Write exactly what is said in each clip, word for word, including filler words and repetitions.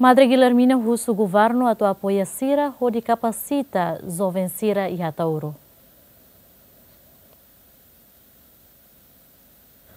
Madre Guilhermina husu governu atu apoia sira hodi kapasita joven sira iha Ataúro.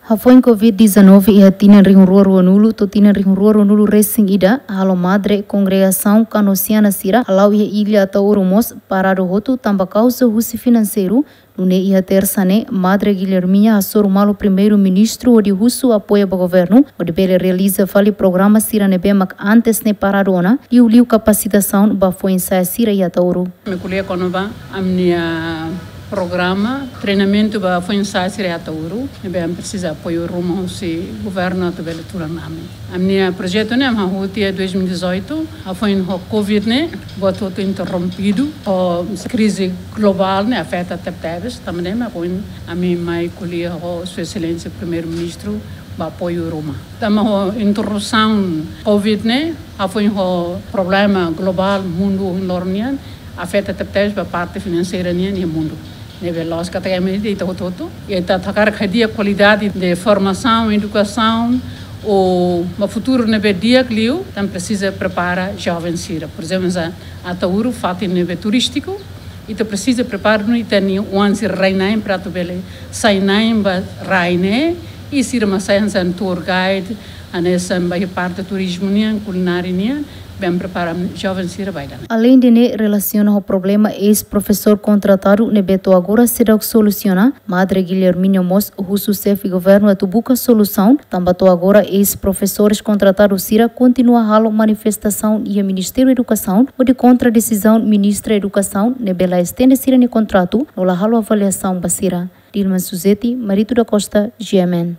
Hafoin covid dezanove iha tinan rihun rua ruanulu to'o tinan rihun rua ruanulu resin ida, halo madre kongregasaun kanosiana sira hala'o iha illa Ataúro mós paradu hotu tanba kauza husi finanseiru. Nune'e iha tersa ne'e, Madre Guilhermina hasoru malu Primeiru-Ministru hodi husu apoia ba governu hodi bele realiza fali programa sira ne'ebé mak antes ne'e paradu ona, liuliu kapasitasaun ba foin-sa'e sira iha Ataúro. Ami ko'alia kona-ba ami-nia programa treinamentu ba foin-sa'e sira iha Ataúro, ne'ebé ami presiza apoiu ruma husi governu atu bele tulan ami. Ami-nia projetu ne'e ami hahú tiha dois mil e dezoito, hafoin ho covid ne'e buat hotu interrompidu, ho krize globál ne'e afeta tebetebes, tanba ne'e mak ohin ami mai ko'alia ho Sua Exelénsia Primeiru-Ministru ba apoiu ruma. Tanba ho interrupsaun covid ne'e, hafoin ho problema globál mundu ohin loron nian, afeta tebetebes ba parte finanseira nian iha mundu. Ne'ebé lójika katak ami de'it hotu-hotu, ita hakarak hadi'a kualidade de formasaun, edukasaun, ou ba futuru ne'ebé di'ak liu, ita presiza prepara joven sira. Por ezemplu, hanesan Ataúro, fatin ne'ebé turístiku, ita presiza prepara duni ita-nia oan sira rai-na'in para atu bele sai na'in ba rai ne'e, i sira mak sai hanesan tour guide, hanesan ba iha parte turizmu nian, kulinária nian, bele prepara joven sira ba ida-ne'e. Aleinde ne'e, relasiona ho problema eis-profesór kontratadu ne'ebé to'o agora seidauk solusiona, Madre Guilhermina mós husu xefe governu atu buka solusaun, tanba to'o agora eis-profesores kontratadu sira kontinua halo manifestasaun iha Ministériu Edukasaun hodi kontra desizaun Ministra Edukasaun ne'ebé la estende sira-nia kontratu no la halo avaliasaun ba sira. Dilma Suzeti, Marito da Costa, G M N.